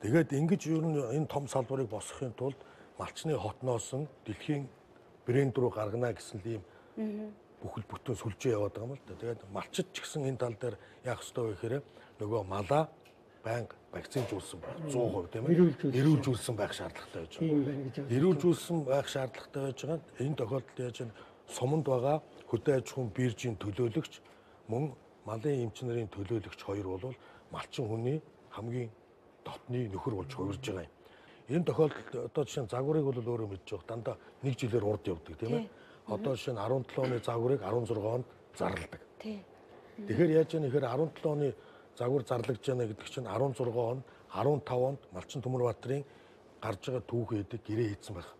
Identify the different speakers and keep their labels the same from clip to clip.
Speaker 1: Тэгээд ингэж ер нь энэ том салбарыг босгохын тулд малчны хотноос нь дэлхийн брэнд рүү гаргана гэсэн ийм бүхэл бүтэн сүлжээ яваад байгаа юм л да. Тэгээд малчид ч гэсэн энэ тал дээр яах ёстой вэ гэхээр нөгөө малаа байнга вакцинжуулсан байх 100% тийм ээ. Эрүүлжүүлсэн байх шаардлагатай байж байгаа. Эрүүлжүүлсэн байх шаардлагатай байж байгаа. Энэ тохиолдолд яаж нь суманд байгаа хөдөө аж ахуйн биржийн төлөөлөгч мөн малын эмч нарын төлөөлөгч хоёр бол малчин хүний хамгийн дотны нөхөр болж хувирж байгаа юм. Энэ тохиолдолд одоо жишээ нь загварыг бол өөрөө мэдж байгаа. Дандаа нэг жилээр урд явдаг тийм ээ. Одоо жишээ нь 17 оны загварыг 16 онд зарладаг. Тэгэхээр яаж яах вэ гэхээр 17 оны загвар зарлагдж байна гэдэг чинь 16 он 15 онд Малчин Төмөрбаатарын гарч байгаа түүхий эдэг гэрээ хийсэн байх.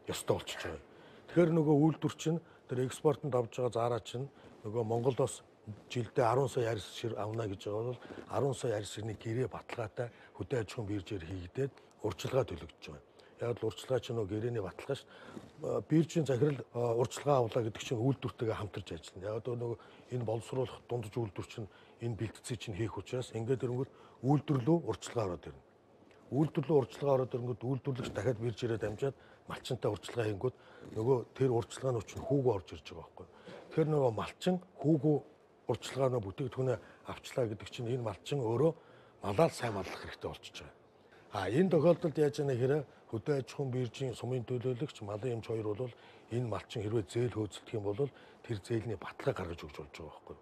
Speaker 1: Ёстой болчихж байгаа. Тэгэхээр нөгөө үйлдвэр чинь тэр экспортод авж байгаа зараа чинь нөгөө Монголоос жилдээ 10 сая арьс шир авна гэж байгаа бол 10 сая арьс ширний гэрээ баталгаатай хөдөө аж ахуйн биржээр хийгдээд урьдчилгаа төлөгдөж байгаа. Яг л урьдчилгаа чинь нөгөө гэрээний баталгаа ш. Биржийн захирал урьдчилгаа авлаа гэдэг чинь үйлдвэртэйгээ хамтарч ажиллана. Яг нөгөө энэ боловсруулах дундаж үйлдвэр чинь энэ бэлтгэцийг чинь хийх учраас ингээд ирэнгүүт үйлдвэрлүү урьдчилгаа ороод ирнэ. Үйлдвэрлүү урьдчилгаа ороод ирэнгүүт үйлдвэрлэгч дахиад биржээрээ дамжаад малчинтай урьдчилгаа хийнгүүт нөгөө тэр урьдчилгааны чинь хүүгөө орж ирж байгаа байхгүй. Тэгэхээр нөгөө малчин хүүгөө урьдчилгааны бүтээгдэхүүнээ авчлаа гэдэг чинь энэ малчин өөрөө малаар сайн маллах хэрэгтэй болчихж байгаа. Энэ тохиолдолд яаж яана гэхээр хөдөө аж ахуйн биржийн сумын төлөөлөгч малын эмч хоёр бол энэ малчин хэрвээ зээл хөөцөлдөх юм бол тэр зээлийн баталгаа гаргаж өгч болж байгаа байхгүй.